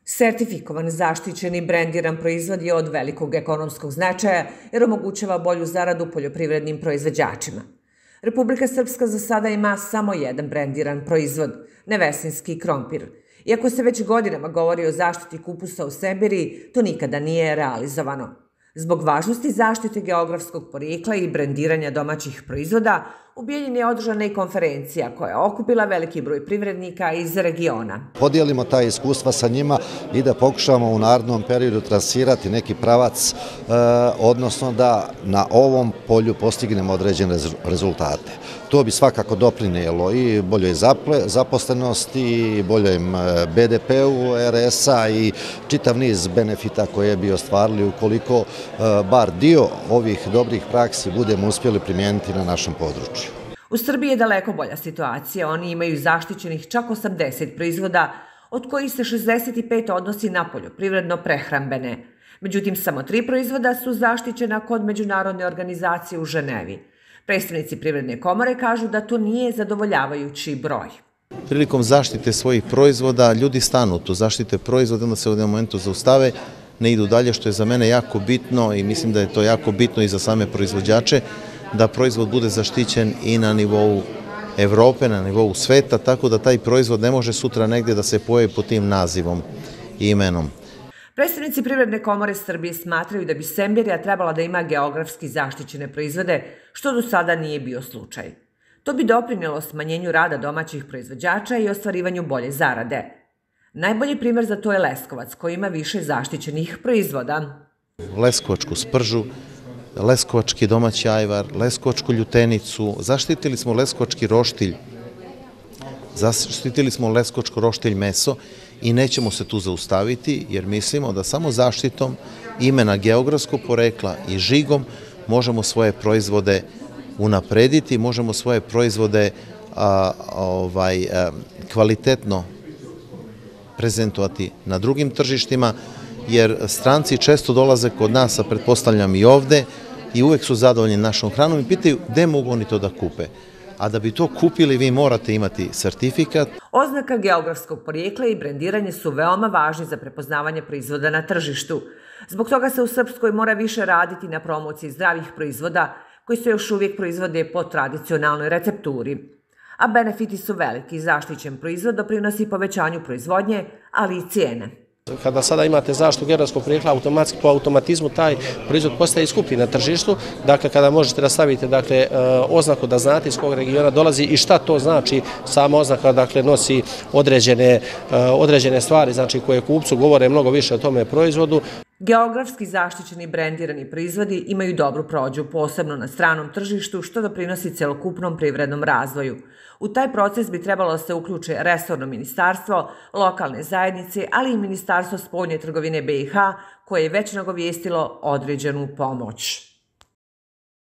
Sertifikovan, zaštićeni, brendiran proizvod je od velikog ekonomskog značaja jer omogućava bolju zaradu poljoprivrednim proizvođačima. Republika Srpska za sada ima samo jedan brendiran proizvod – nevesinski krompir. Iako se već godinama govori o zaštiti kupusa u Semberiji, to nikada nije realizovano. Zbog važnosti zaštite geografskog porijekla i brendiranja domaćih proizvoda, u Bijeljini je održana i konferencija koja je okupila veliki broj privrednika iz regiona. Podijelimo ta iskustva sa njima i da pokušamo u narednom periodu trasirati neki pravac, odnosno da na ovom polju postignemo određene rezultate. To bi svakako doprinijelo i boljoj zaposlenosti, i boljem BDP-u RS-a i čitav niz benefita koje bi ostvarili ukoliko bar dio ovih dobrih praksi budemo uspjeli primijeniti na našem području. U Srbiji je daleko bolja situacija. Oni imaju zaštićenih čak 80 proizvoda, od kojih se 65 odnosi na poljoprivredno-prehrambene. Međutim, samo 3 proizvoda su zaštićena kod međunarodne organizacije u Ženevi. Predstavnici Privredne komore kažu da to nije zadovoljavajući broj. Prilikom zaštite svojih proizvoda ljudi stanu tu, zaštite proizvoda, onda se u jednom momentu zaustave, ne idu dalje, što je za mene jako bitno i mislim da je to jako bitno i za same proizvođače, da proizvod bude zaštićen i na nivou Evrope, na nivou sveta, tako da taj proizvod ne može sutra negdje da se pojavi pod tim nazivom i imenom. Predstavnici Privredne komore Srbije smatraju da bi Semberija trebala da ima geografski zaštićene proizvode, što do sada nije bio slučaj. To bi doprinijelo smanjenju rada domaćih proizvođača i ostvarivanju bolje zarade. Najbolji primjer za to je Leskovac, koji ima više zaštićenih proizvoda. Leskovačku spržu, leskovački domaći ajvar, leskovačku ljutenicu, zaštitili smo leskovački roštilj, zaštitili smo leskovačko roštilj meso i nećemo se tu zaustaviti jer mislimo da samo zaštitom imena geografskog porekla i žigom možemo svoje proizvode unaprediti, možemo svoje proizvode kvalitetno prezentovati na drugim tržištima, jer stranci često dolaze kod nas, a pretpostavljam i ovde, i uvek su zadovoljni našom hranom i pitaju gde mogu oni to da kupe. A da bi to kupili, vi morate imati sertifikat. Oznaka geografskog porijekla i brendiranje su veoma važni za prepoznavanje proizvoda na tržištu. Zbog toga se u Srpskoj mora više raditi na promociji zdravih proizvoda koji se još uvijek proizvode po tradicionalnoj recepturi. A benefiti su veliki. Zaštićen proizvod doprinosi povećanju proizvodnje, ali i cijene. Kada sada imate zaštitu geografskog porijekla, automatski po automatizmu taj proizvod postaje skuplji na tržištu. Dakle, kada možete da stavite oznaku da znate iz kog regiona dolazi i šta to znači, sama oznaka nosi određene stvari koje kupcu govore mnogo više o tome proizvodu. Geografski zaštićeni brendirani proizvodi imaju dobru prođu, posebno na stranom tržištu, što doprinosi celokupnom privrednom razvoju. U taj proces bi trebalo da se uključe resorno ministarstvo, lokalne zajednice, ali i Ministarstvo spoljne trgovine BiH, koje je već nagovijestilo određenu pomoć.